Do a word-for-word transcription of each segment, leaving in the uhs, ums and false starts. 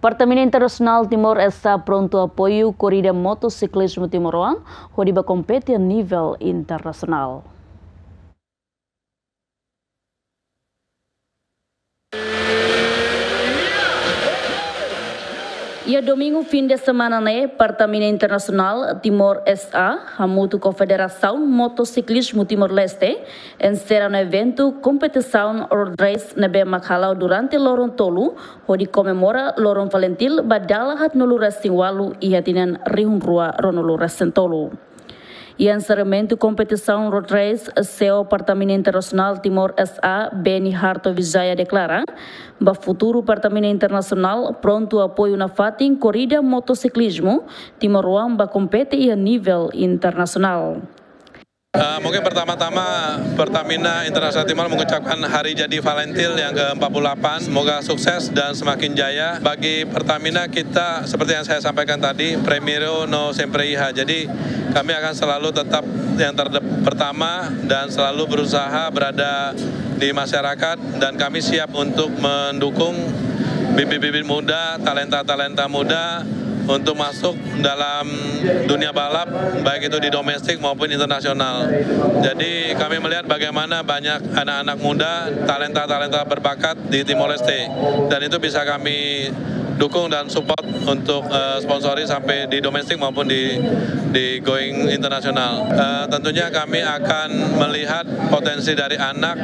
Pertamina Internasionál Timor S A prontu apoiu korrida motosiklizmu timoroan hodi ba kompete nivel internasionál. Iha domingu fin de semana ne'e, Pertamina Internasionál Timor S A hamutuk ho Federasaun Motosiklizmu Timor-Leste ensera ona eventu kompetisaun road race ne'ebé mak hala'o durante loron tolu, hodi komemora loron Falintil ba dala haatnulu-resin-ualu iha tinan rihun rua ruanulu-resin-tolu. Iha enserramentu kompetisaun road race, C E O Pertamina Internasionál Timor S A, Benny Harto Wijaya deklara, ba futuru Pertamina Internasionál prontu apoiu nafatin korrida motosiklizmu timoroan ba kompete iha nivel internasionál. Eh, mungkin pertama-tama Pertamina Internasionál Timor mengucapkan Hari Jadi Falintil yang ke empat puluh delapan. Semoga sukses dan semakin jaya. Bagi Pertamina, kita seperti yang saya sampaikan tadi, primeiru no sempre iha. Jadi kami akan selalu tetap yang terde-, pertama dan selalu berusaha berada di masyarakat, dan kami siap untuk mendukung bibit-bibit muda, talenta-talenta muda untuk masuk dalam dunia balap, baik itu di domestik maupun internasional. Jadi kami melihat bagaimana banyak anak-anak muda, talenta-talenta berbakat di Timor Leste, dan itu bisa kami dukung dan support untuk, eh, sponsori sampai di domestik maupun di, di going internasional. Eh, tentunya kami akan melihat potensi dari anak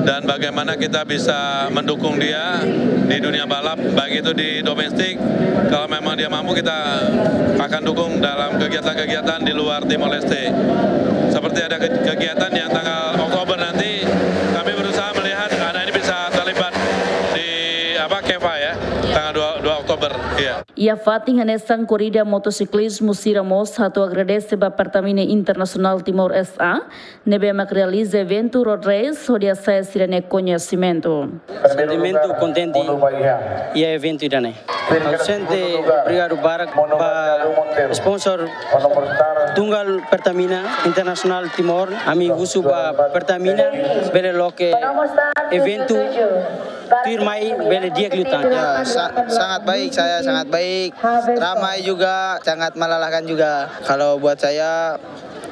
dan bagaimana kita bisa mendukung dia di dunia balap, baik itu di domestik. Kalau memang dia mampu, kita akan dukung dalam kegiatan-kegiatan di luar Timor Leste. Seperti ada ke-, kegiatan yang tanggal Oktober nanti, kami berusaha melihat anak ini bisa terlibat di, apa, KEVA ya, tanggal dua, dua Oktober, iya. Iha fatin hanesan, korrida motosiklizmu sira mós hato'o agradese ba Pertamina Internasionál Timor S A ne'ebé mak realiza eventu road race hodi hasa'e sira-nia koñesimentu. Sentimentu kontente iha eventu ida-ne'e. Ha'u sente obrigadu barak ba sponsor tunggal Pertamina Internasionál Timor. Ami husu ba Pertamina bele loke eventu tuirmai bele di'ak liután. Ya, sa-, sangat baik, saya sangat baik. Ramai juga, sangat melelahkan juga. Kalau buat saya,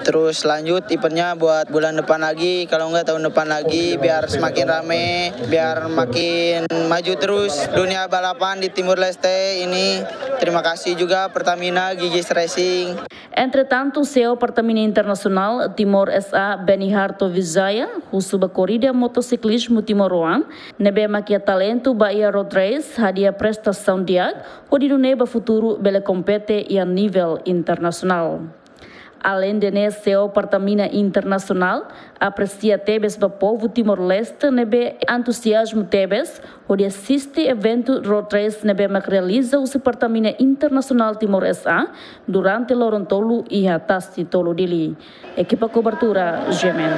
terus lanjut eventnya buat bulan depan lagi, kalau enggak tahun depan lagi, biar semakin rame, biar makin maju terus dunia balapan di Timor Leste ini. Terima kasih juga Pertamina, Gigis Racing. Entretantu, C E O Pertamina Internasionál Timor S A, Benny Harto Wijaya, husu ba korrida motosiklizmu timoroan ne'ebé mak iha talentu ba iha road race hadi'a prestasaun di'ak, hodi nune'e ba futuru bele kompete iha nivel internasionál. Aleinde ne'e, C E O Pertamina Internasionál apresia tebes ba povu Timor-Leste ne'ebé entuziazmu tebes hodi asiste eventu road race ne'ebé mak realiza husi Pertamina Internasionál Timor S A durante loron tolu iha Tasi Tolu, Dili. Ekipa kobertura, G M N.